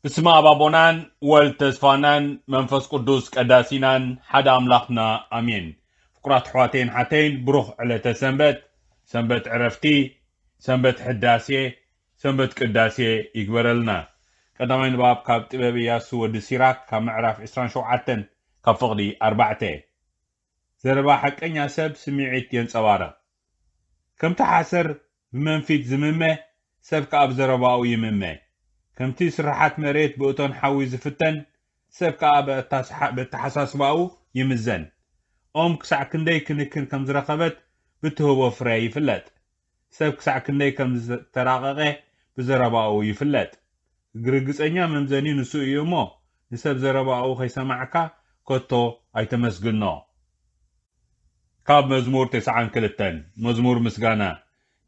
ብስመ ኣብ ኣቦናን ወልድ ተስፋናን መንፈስ ቅዱስ ቀዳሲናን ሓደ ኣምላኽና ኣሜን። ፍቁራት ኣሕዋተይን ሓተይን፣ ብሩኽ ዕለተ ሰንበት፣ ሰንበት ዕረፍቲ፣ ሰንበት ሕዳሴ፣ ሰንበት ቅዳሴ ይግበረልና። ቀዳማይ ንባብ ካብ ጥበብ ኢያሱ ወዲ ሲራክ ካብ ምዕራፍ ዕስራን ሸውዓተን ካብ ፍቕዲ ኣርባዕተ። ዘረባ ሓቀኛ ሰብ ስምዒት የንጸባርቕ። ከምቲ ሓሰር ብመንፊት ዝምመ፣ ሰብ ከኣ ብዘረባኡ ይምመ። ከምቲ ስርሓት መሬት ብእቶን ሓዊ ዝፍተን፣ ሰብ ከኣ በኣታስሓ-፣ በተሓሳስባኡ ይምዘን። ኦም ክሳዕ ክንደይ ክንክን ከም ዝረኸበት ብትህቦ ፍረ ይፍለጥ። ሰብ ክሳዕ ክንደይ ከም ዝተራቐቐ ብዘረባኡ ይፍለጥ። ርግጸኛ መምዘኒ ንሱ እዩ እሞ፣ ንሰብ ዘረባኡ ከይሰማዕካ ከቶ ኣይተመስግኖ። ካብ መዝሙር ተስዓን ክልተን። መዝሙር ምስጋና።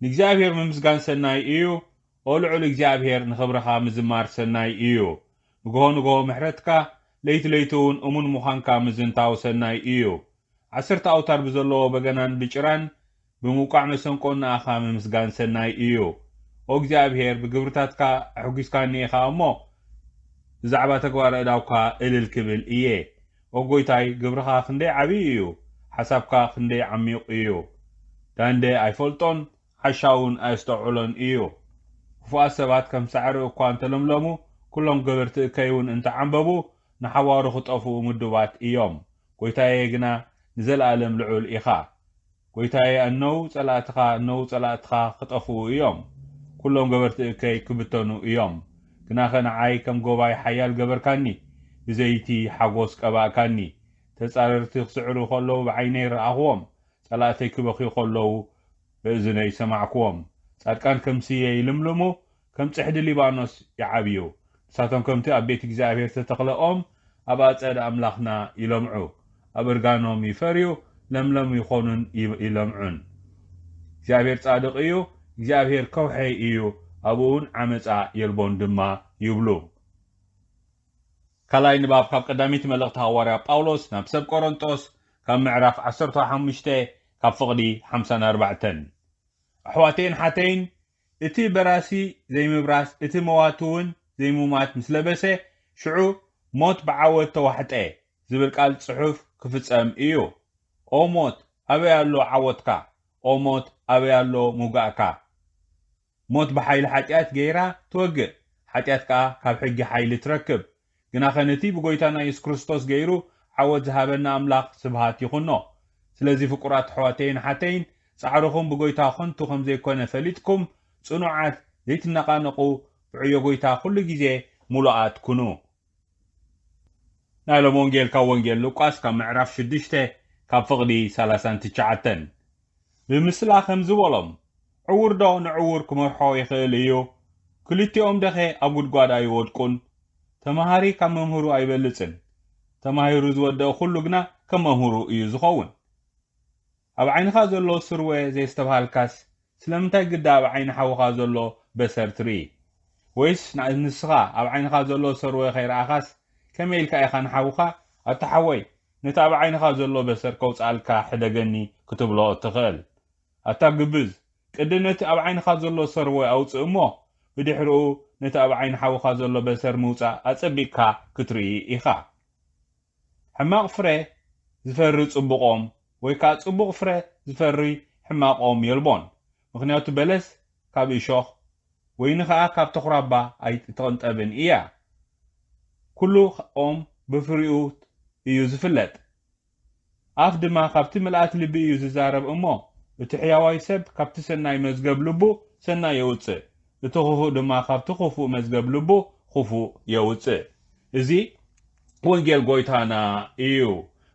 ንእግዚኣብሔር ምምስጋን ሰናይ እዩ። ኦ ልዑል እግዚኣብሔር፣ ንኽብርኻ ምዝማር ሰናይ እዩ። ንግሆ ንግሆ ምሕረትካ፣ ለይቲ ለይቲ እውን እሙን ምዃንካ ምዝንታው ሰናይ እዩ። ዓሰርተ ኣውታር ብዘለዎ በገናን ብጭራን ብምውቃዕ መሰንቆን ንኣኻ ምምስጋን ሰናይ እዩ። ኦ እግዚኣብሔር፣ ብግብርታትካ ኣሕጒስካኒ ኢኻ እሞ፣ ብዛዕባ ተግባረ እዳውካ እልል ክብል እየ። ኦ ጐይታይ፣ ግብርኻ ክንደይ ዓብዪ እዩ፣ ሓሳብካ ክንደይ ዓሚቕ እዩ። ዳንደ ኣይፈልጦን፣ ዓሻ እውን ኣየስተውዕሎን እዩ። ክፉኣት ሰባት ከም ሳዕሪ እኳ እንተለምለሙ፣ ኩሎም ገበርቲ እከይ እውን እንተዓምበቡ፣ ንሓዋሩ ክጠፍኡ ምዱባት እዮም። ጐይታየ ግና ንዘለኣለም ልዑል ኢኻ። ጐይታየ፣ እነዉ ጸላእትኻ፣ እነዉ ጸላእትኻ ክጠፍኡ እዮም። ኩሎም ገበርቲ እከይ ክብተኑ እዮም። ግናኸ ንዓይ ከም ጎባይ ሓያል ገበርካኒ፣ ብዘይቲ ሓጎስ ቀባእካኒ። ተጻረርቲ ክስዕሩ ከለዉ ብዓይነይ ረኣኽዎም፣ ጸላእተይ ክበኽዩ ከለዉ ብእዝነይ ሰማዕክዎም። ጻድቃን ከም ስየ ይልምልሙ፣ ከም ጽሕዲ ሊባኖስ ይዓብዩ። ንሳቶም ከምቲ ኣብ ቤት እግዚኣብሔር ዝተተኽለ ኦም፣ ኣብ ኣጸደ ኣምላኽና ይለምዑ። ኣብ እርጋኖም ይፈርዩ፣ ለምለም ይኾኑን ይ-፣ ይለምዑን። እግዚኣብሔር ጻድቕ እዩ፣ እግዚኣብሔር ከውሐይ እዩ፣ ኣብኡ እውን ዓመጻ የልቦን ድማ ይብሉ። ካልኣይ ንባብ ካብ ቀዳመይቲ መልእኽቲ ሃዋርያ ጳውሎስ ናብ ሰብ ቆሮንጦስ፣ ካብ ምዕራፍ ዓሰርተ ሓሙሽተ ካብ ፍቕዲ ሓምሳን ኣርባዕተን። ኣሕዋተይን ሓተይን፣ እቲ በራሲ ዘይምብራስ፣ እቲ መዋቲ እውን ዘይሙማት ምስ ለበሰ፣ ሽዑ ሞት ብዓወት ተዋሕጠ ዝብል ቃል ጽሑፍ ክፍጸም እዩ። ኦ ሞት፣ ኣበይ ኣሎ ዓወትካ? ኦ ሞት፣ ኣበይ ኣሎ ምውጋእካ? ሞት ብሓይሊ ሓጢኣት ገይራ ትወግእ፣ ሓጢኣት ከኣ ካብ ሕጊ ሓይሊ ትረክብ። ግናኸ ነቲ ብጐይታና የሱስ ክርስቶስ ገይሩ ዓወት ዝሃበና ኣምላኽ ስብሃት ይኹኖ። ስለዚ ፍቁራት ኣሕዋተይን ሓተይን፣ ጻዕርኹም ብጐይታ ኸንቱ ከም ዘይኮነ ፈሊጥኩም፣ ጽኑዓት፣ ዘይትነቓነቑ፣ ብዕዮ ጐይታ ኹሉ ግዜ ምሉኣት ኩኑ። ናይ ሎም ወንጌል ካብ ወንጌል ሉቃስ ካብ ምዕራፍ ሽዱሽተ ካብ ፍቕዲ ሰላሳን ትሽዓተን። ብምስላ ከምዚ በሎም፣ ዕዉር ዶ ንዕዉር ክመርሖ ይኽእል እዩ? ክልቲኦም ደኸ ኣብ ጉድጓድ ኣይወድቁን? ተማሃሪ ካብ መምህሩ ኣይበልጽን? ተማሂሩ ዝወደቐ ኩሉ ግና ከም መምህሩ እዩ ዝኸውን። ኣብ ዓይንኻ ዘሎ ስርወ ዘየስተብሃልካስ፣ ስለምንታይ ግዳ ኣብ ዓይኒ ሓውኻ ዘሎ በሰር ትርኢ? ወይስ ና-፣ ንስኻ ኣብ ዓይንኻ ዘሎ ሰርወ ከይረኣኻስ፣ ከመይ ኢልካ ኢኻ ንሓውኻ፣ "ኣታ ሓወይ፣ ነቲ ኣብ ዓይንኻ ዘሎ በሰር ከውጽኣልካ ሕደገኒ" ክትብሎ እትኽእል? ኣታ ግብዝ፣ ቅድም ነቲ ኣብ ዓይንኻ ዘሎ ሰርወ ኣውጽእ እሞ፣ ብድሕርኡ ነቲ ኣብ ዓይኒ ሓውኻ ዘሎ በሰር ምውጻእ ኣጸቢቕካ ክትርኢ ኢኻ። ሕማቕ ፍረ ዝፈሪ ጽቡቕ ኦም፣ ወይ ከኣ ጽቡቕ ፍረ ዝፈሪ ሕማቕ ኦም የልቦን። ምኽንያቱ በለስ ካብ እሾኽ፣ ወይኒ ኸኣ ካብ ተኹራባ ኣይትቕንጠብን እያ። ኩሉ ኦም ብፍሪኡ እዩ ዝፍለጥ። ኣፍ ድማ ካብቲ ምልኣት ልቢ እዩ ዝዛረብ እሞ፣ እቲ ሕያዋይ ሰብ ካብቲ ሰናይ መዝገብ ልቡ ሰናይ የውጽእ፣ እቲ ኽፉእ ድማ ካብቲ ኽፉእ መዝገብ ልቡ ኽፉእ የውጽእ። እዚ ወንጌል ጐይታና እዩ።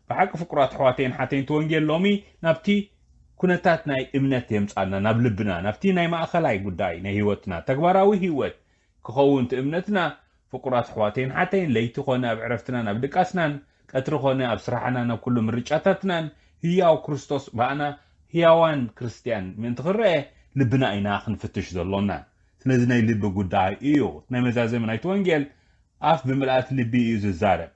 ብሓቂ ፍቁራት ኣሕዋተይን ሓተይን፣ እቲ ወንጌል ሎሚ ናብቲ ኩነታት ናይ እምነት የምጻና፣ ናብ ልብና፣ ናብቲ ናይ ማእኸላይ ጉዳይ ናይ ህይወትና፣ ተግባራዊ ህይወት ክኸውን እቲ እምነትና። ፍቁራት ኣሕዋተይን ሓተይን፣ ለይቲ ኾነ ኣብ ዕረፍትናን ኣብ ድቃስናን፣ ቀትሪ ኾነ ኣብ ስራሕናን ኣብ ኩሉ ምርጫታትናን፣ ህያው ክርስቶስ ብኣና ህያዋን ክርስትያን ምእንቲ ክረአ ልብና ኢና ክንፍትሽ ዘሎና። ስለዚ ናይ ልቢ ጉዳይ እዩ። ናይ መዛዘሚ ናይቲ ወንጌል፣ ኣፍ ብምልኣት ልቢ እዩ ዝዛረብ።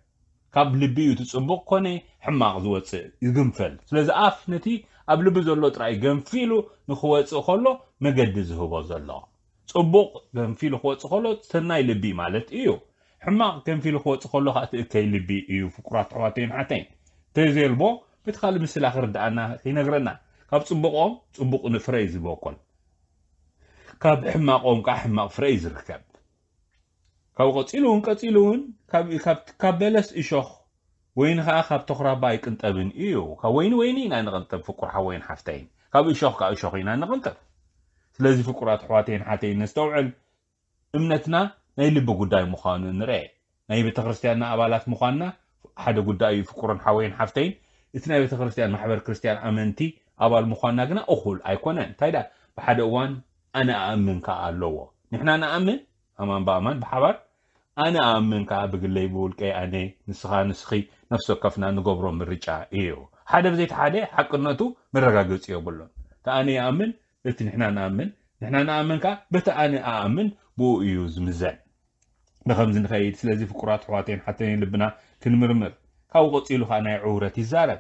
ካብ ልቢ እዩ እቲ ጽቡቕ ኮነ ሕማቕ ዝወጽእ፣ ይግንፈል። ስለዚ ኣፍ ነቲ ኣብ ልቢ ዘሎ ጥራይ ገንፊሉ ንኽወጽእ ከሎ መገዲ ዝህቦ ዘሎ። ጽቡቕ ገንፊሉ ክወጽእ ከሎ ሰናይ ልቢ ማለት እዩ። ሕማቕ ከንፊሉ ክወጽእ ከሎ ከዓ እቲ እከይ ልቢ እዩ። ፍቁራት ኣሕዋተይን ሓተይን፣ ተዘየልቦ በቲ ካልእ ምስላ ክርድኣና ይነግረና። ካብ ጽቡቖም ጽቡቕ ንፍረ እዩ ዝበቆል፣ ካብ ሕማቖም ከዓ ሕማቕ ፍረ እዩ ዝርከብ። ካብኡ ቀጺሉ እውን ቀጺሉ እውን ካብ በለስ እሾኽ ወይኒ ከዓ ካብ ተኹራባ ኣይቅንጠብን እዩ። ካብ ወይኒ ወይኒ ኢና ንቕንጠብ ፍቁር ሓወይን ሓፍተይን፣ ካብ እሾኽ ከዓ እሾኽ ኢና ንቕንጠብ። ስለዚ ፍቁራት ኣሕዋተይን ሓተይን ነስተውዕል። እምነትና ናይ ልቢ ጉዳይ ምዃኑ ንርኤ። ናይ ቤተ ክርስቲያንና ኣባላት ምዃንና ሓደ ጉዳይ እዩ። ፍቁርን ሓወይን ሓፍተይን፣ እቲ ናይ ቤተ ክርስቲያን ማሕበር ክርስቲያን ኣመንቲ ኣባል ምዃንና ግና እኹል ኣይኮነን። እንታይ ደኣ ብሓደ እዋን ኣነ ኣኣምን ከኣ ኣለዎ። ንሕና ንኣምን ኣማን ብኣማን ብሓባር፣ ኣነ ኣኣምን ከኣ ብግለይ ብውልቀይ ኣነ፣ ንስኻ ንስኺ፣ ነፍሲ ወከፍና ንገብሮ ምርጫ እዩ። ሓደ ብዘይቲ ሓደ ሓቅነቱ መረጋገጺ የብሉን። እቲ ኣነ ይኣምን፣ እቲ ንሕና ንኣምን፣ ንሕና ንኣምን ከኣ በቲ ኣነ ኣኣምን ብኡ እዩ ዝምዘን። ብኸምዚ ንኸይድ። ስለዚ ፍቁራት ኣሕዋተይን ሓተይን ልብና ክንምርምር። ካብኡ ቀጺሉ ከኣ ናይ ዕውረት ይዛረብ።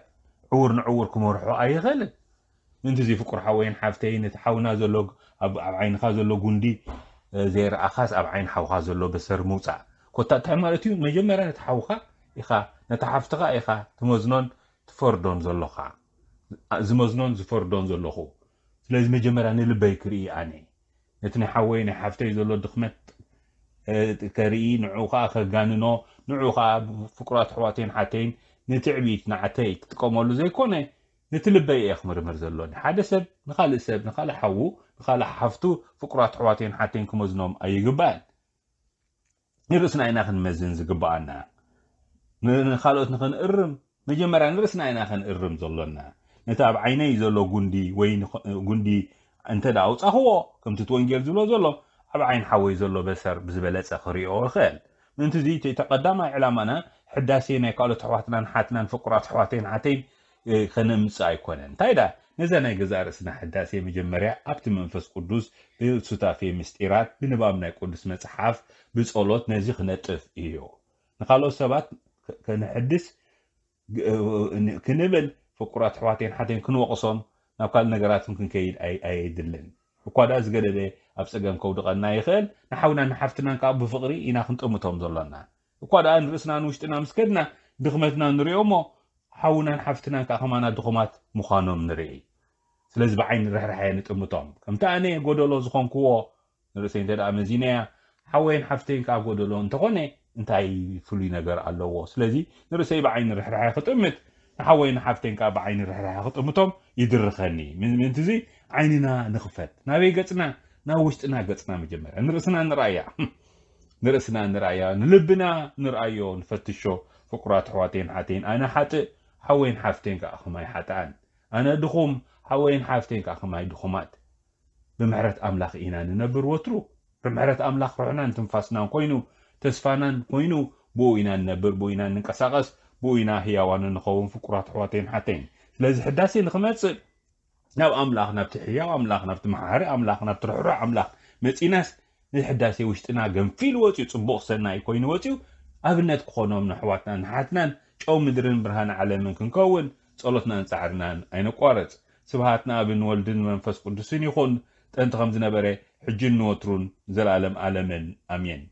ዕውር ንዕውር ክመርሖ ኣይኽእልን። ምእንቲ እዚ ፍቁር ሓወይን ሓፍተይን፣ ነቲ ሓውና ዘሎ፣ ኣብ ኣብ ዓይንኻ ዘሎ ጉንዲ ዘይረኣኻስ ኣብ ዓይኒ ሓውኻ ዘሎ በሰር ምውጻእ። ኮታ እንታይ ማለት እዩ? መጀመርያ ነቲ ሓውኻ ኢኻ፣ ነታ ሓፍትኻ ኢኻ ትመዝኖን ትፈርዶን ዘሎኻ። ዝመዝኖን ዝፈርዶን ዘለኹ። ስለዚ መጀመርያ ንልበይ ክርኢ ኣነ። ነቲ ናይ ሓወይ ናይ ሓፍተይ ዘሎ ድኽመት ከርኢ፣ ንዕኡ ከኣ ከጋንኖ፣ ንዕኡ ከኣ ፍቁራት ኣሕዋተይን ሓተይን ንትዕቢት ንዓተይ ክጥቀመሉ ዘይኮነ፣ ነቲ ልበይ እየ ክምርምር ዘሎኒ። ሓደ ሰብ ንኻልእ ሰብ፣ ንኻልእ ሓዉ፣ ንኻልእ ሓፍቱ ፍቁራት ኣሕዋተይን ሓተይን ክመዝኖም ኣይግባእን። ንርእስና ኢና ክንመዝን ዝግባኣና። ንኻልኦት ንኽንእርም መጀመርያ ንርእስና ኢና ክንእርም ዘሎና። ነቲ ኣብ ዓይነይ ዘሎ ጉንዲ ወይ ጉንዲ እንተ ደኣ ኣውጻኽዎ፣ ከምቲ እቲ ወንጌል ዝብሎ ዘሎ፣ ኣብ ዓይን ሓወይ ዘሎ በሰር ብዝበለጸ ክርእዮ ይኽእል። ምእንቲ እዚ እቲ ቀዳማይ ዕላማና ሕዳሴ ናይ ካልኦት ኣሕዋትናን ሓትናን ፍቁራት ኣሕዋተይን ሓተይን ከነምጽእ ኣይኮነን። እንታይ ደኣ ነዛ ናይ ገዛእ ርእስና ሕዳሴ መጀመርያ ኣብቲ መንፈስ ቅዱስ ብሱታፌ ምስጢራት ብንባብ ናይ ቅዱስ መጽሓፍ ብጸሎት ነዚ ክነጥፍ እዩ። ንኻልኦት ሰባት ከነሕድስ ክንብል ፍቁራት ኣሕዋተይን ሓተይን ክንወቕሶም ናብ ካልእ ነገራትን ክንከይድ ኣየድልን። እኳ ደኣ ዝገደደ ኣብ ጸገም ከውድቐና ይኽእል፣ ንሓውናን ንሓፍትናን ከኣ ብፍቕሪ ኢና ክንጥምቶም ዘሎና። እኳ ደኣ ንርእስና ንውሽጥና ምስ ከድና ድኽመትና ንርእዮ እሞ ሓውናን ሓፍትናን ከኣ ከማና ድኹማት ምዃኖም ንርኢ። ስለዚ ብዓይኒ ርሕራሐ ንጥምቶም። ከምቲ ኣነ ጎደሎ ዝኾንክዎ ንርእሰይ እንተ ደኣ መዚነያ፣ ሓወይን ሓፍተይን ከኣ ጎደሎ እንተኾነ እንታይ ፍሉይ ነገር ኣለዎ? ስለዚ ንርእሰይ ብዓይኒ ርሕራሐ ክጥምት፣ ንሓወይን ሓፍተይን ከኣ ብዓይኒ ርሕራሐ ክጥምቶም ይድርኸኒ። ምእንቲ እዚ ዓይንና ንኽፈት። ናበይ ገጽና? ናብ ውሽጥና ገጽና መጀመርያ። ንርእስና ንርኣያ። ንርእስና ንርኣያ። ንልብና ንርኣዮ፣ ንፈትሾ። ፍቁራት ኣሕዋተይን ሓተይን፣ ኣነ ሓጥእ፣ ሓወይን ሓፍተይን ከኣ ከማይ ሓጥኣን። ኣነ ድኹም፣ ሓወይን ሓፍተይን ከኣ ከማይ ድኹማት። ብምሕረት ኣምላኽ ኢና ንነብር ወትሩ። ብምሕረት ኣምላኽ ርሑናን ትንፋስናን ኮይኑ፣ ተስፋናን ኮይኑ፣ ብኡ ኢና ንነብር፣ ብኡ ኢና ንንቀሳቐስ፣ ብኡ ኢና ህያዋን እንኸውን ፍቁራት ኣሕዋተይን ሓተይን። ስለዚ ሕዳሴ ንኽመጽእ ናብ ኣምላኽ፣ ናብቲ ህያው ኣምላኽ፣ ናብቲ መሓሪ ኣምላኽ፣ ናብቲ ርሕሩሕ ኣምላኽ መጺናስ፣ ንሕዳሴ ውሽጥና ገንፊሉ ወጺኡ፣ ጽቡቕ ሰናይ ኮይኑ ወጺኡ፣ ኣብነት ክኾኖም ንኣሕዋትናን ንሓትናን ጨው ምድርን ብርሃን ዓለምን ክንከውን ጸሎትናን ጻዕርናን ኣይነቋርጽ። ስብሃት ንኣብን ወልድን መንፈስ ቅዱስን ይኹን፣ ጥንቲ ከም ዝነበረ፣ ሕጅን ንወትሩን፣ ንዘለኣለም ኣለምን። ኣሜን።